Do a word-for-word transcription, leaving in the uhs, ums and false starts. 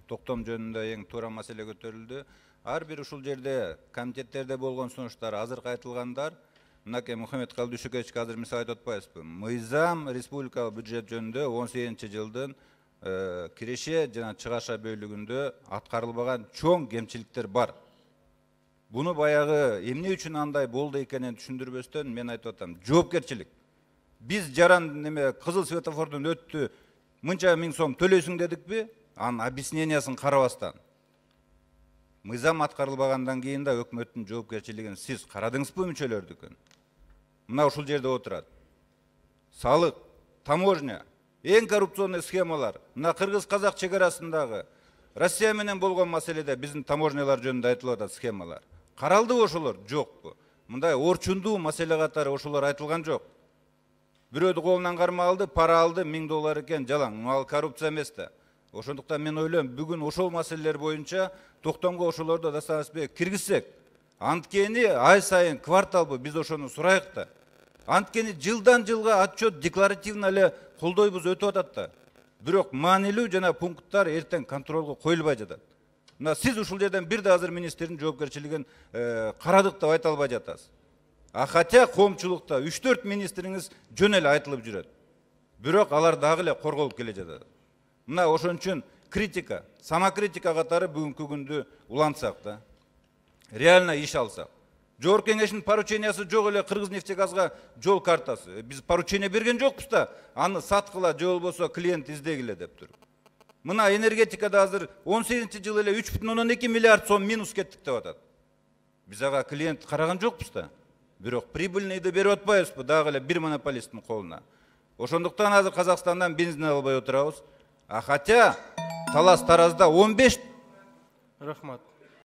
токтом жөнүндө эң туура маселе көтөрүлдү. Ар бир ушул жерде комитеттерде болгон сунуштар, азыркы айтылгандар, мынакей Мухаммед Калдышукевич азыр мисал айтып атпайбызбы? Мыйзам республикалык бюджет жөнүндө он сегизинчи жылдын киреше жана чыгаша бөлүгүндө аткарылбаган чоң кемчиликтер бар. Буну баягы эмне үчүн андай болду экенин түшүндүрбөстөн мен айтып атам. Жоопкерчилик. Биз жаран неме кызыл светофордон өттү, мынча миң сом төлөйсүң дедикпи? Анын объяснениясын карабастан. Мыйзам аткарылбагандан кийин да өкмөттүн жоопкерчилигин сиз карадыңызбы мүчөлөрдүкүн? Мына ушул жерде отурат. Салык, таможня, эң коррупционный схемалар. Мына кыргыз-казак чек арасындагы Россия менен болгон маселеде биздин таможнялар жөнүндө айтылып атат схемалар. Каралдыбы ошолор? Жокпу. Мындай орчундуу маселе катары ошолор айтылган жок. Бирөөдү колунан карма алды, пара алды, миң доллар экен, жалаң. Ал коррупция эмес да. Ошондуктан мен ойлойм, бүгүн ошол маселелер боюнча токтомго ошолорду достаточно киргизсек, анткени ай сайын кварталбы биз ошону сурайык да. Анткени жылдан жылга отчет декларативно эле колдойбуз өтүп атат да. Бирок маанилүү жана пункттар эртең контролго коюлбай жатат. Мына сиз ушул жерден бир да азыр министрдин жоопкерчилигин карадык деп айта албай жатасыз. А хотя коомчулукта үч төрт министриңиз жөн эле айтылып жүрөт. Бирок алар дагы эле корголуп келе жатат. Мына ошон үчүн критика, самокритика катары бүгүнкү күндү улантсак да. Реально иш алсак. Жогорку кеңештин поручениясы жок эле Кыргызнефтегазга жол картасы. Биз поручение берген жокпуз да, аны саткыла же болбосо клиент издегиле деп туруп. Мына энергетикада азыр он сегизинчи жылы эле үч бүтүн ондон эки миллиард сом минус кеттик деп атат. Биз ага клиент караган жокпуз да. Бирок прибыльныйды берип атпайбызбы дагы эле бир монополисттин колуна. Ошондуктан азыр Казакстандан бензин албай отурабыз. А хотя талас таразда он беш. Рахмат.